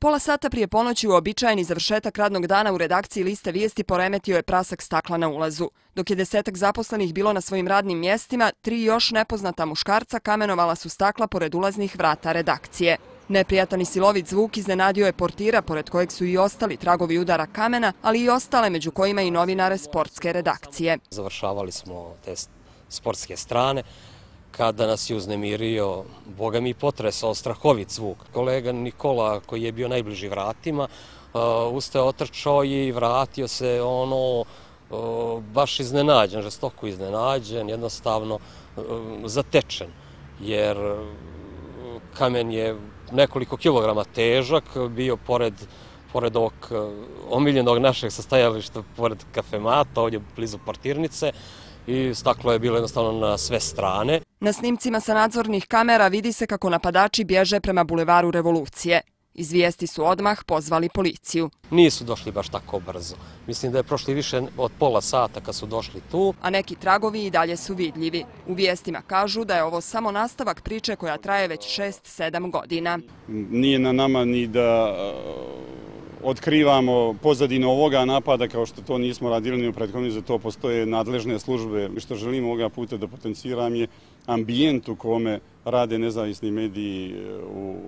Pola sata prije ponoći uobičajeni završetak radnog dana u redakciji Liste vijesti poremetio je prasak stakla na ulazu. Dok je 10-ak zaposlenih bilo na svojim radnim mjestima, 3 još nepoznata muškarca kamenovala su stakla pored ulaznih vrata redakcije. Neprijatan i silovit zvuk iznenadio je portira, pored kojeg su i ostali tragovi udara kamena, ali i ostale, među kojima i novinare sportske redakcije. Završavali smo te sportske strane, kada nas je uznemirio, boga mi potresao strahovit zvuk. Kolega Nikola, koji je bio najbliži vratima, ustao, otrčao i vratio se baš iznenađen, žestoko iznenađen, jednostavno zatečen, jer kamen je nekoliko kilograma težak, bio pored ovog omiljenog našeg sastajališta, pored kafemata, ovdje blizu portirnice, i staklo je bilo jednostavno na sve strane. Na snimcima sa nadzornih kamera vidi se kako napadači bježe prema bulevaru Revolucije. Iz vijesti su odmah pozvali policiju. Nisu došli baš tako brzo. Mislim da je prošli više od pola sata kad su došli tu. A neki tragovi i dalje su vidljivi. U vijestima kažu da je ovo samo nastavak priče koja traje već 6-7 godina. Nije na nama ni da otkrivamo pozadinu ovoga napada, kao što to nismo radili ni u prethodni, za to postoje nadležne službe. Što želim ovoga puta da potenciram je ambijent u kome rade nezavisni mediji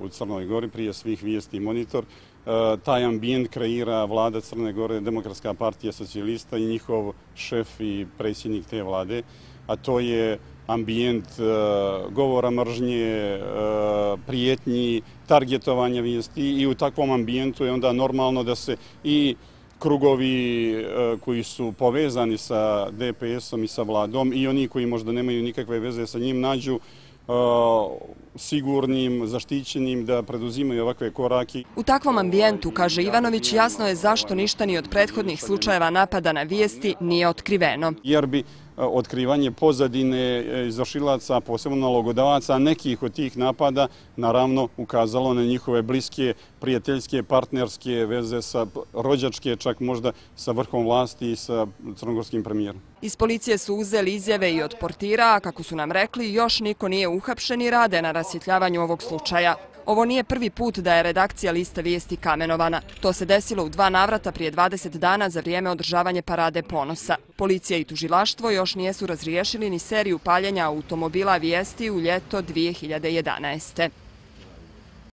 u Crnoj Gori, prije svih Vijesti i Monitor. Taj ambijent kreira vlada Crne Gore, Demokratska partija socijalista i njihov šef i predsjednik te vlade, a to je ambijent govora mržnje, prijetnji, targetovanja vijesti, i u takvom ambijentu je onda normalno da se i krugovi koji su povezani sa DPS-om i sa vladom i oni koji možda nemaju nikakve veze sa njim nađu sigurnim, zaštićenim da preduzimaju ovakve korake. U takvom ambijentu, kaže Ivanović, jasno je zašto ništa ni od prethodnih slučajeva napada na vijesti nije otkriveno. Jer bi otkrivanje pozadine izvršilaca, posebno nalogodavaca nekih od tih napada, naravno ukazalo na njihove bliske, prijateljske, partnerske veze, sa rođačke, čak možda sa vrhom vlasti i sa crnogorskim premijerom. Iz policije su uzeli izjave i od portira, a kako su nam rekli, još niko nije uhapšen i rade na rasvjetljavanju ovog slučaja. Ovo nije prvi put da je redakcija Liste vijesti kamenovana. To se desilo u 2 navrata prije 20 dana za vrijeme održavanja Parade ponosa. Policija i tužilaštvo još nijesu razriješili ni seriju paljenja automobila vijesti u ljeto 2011.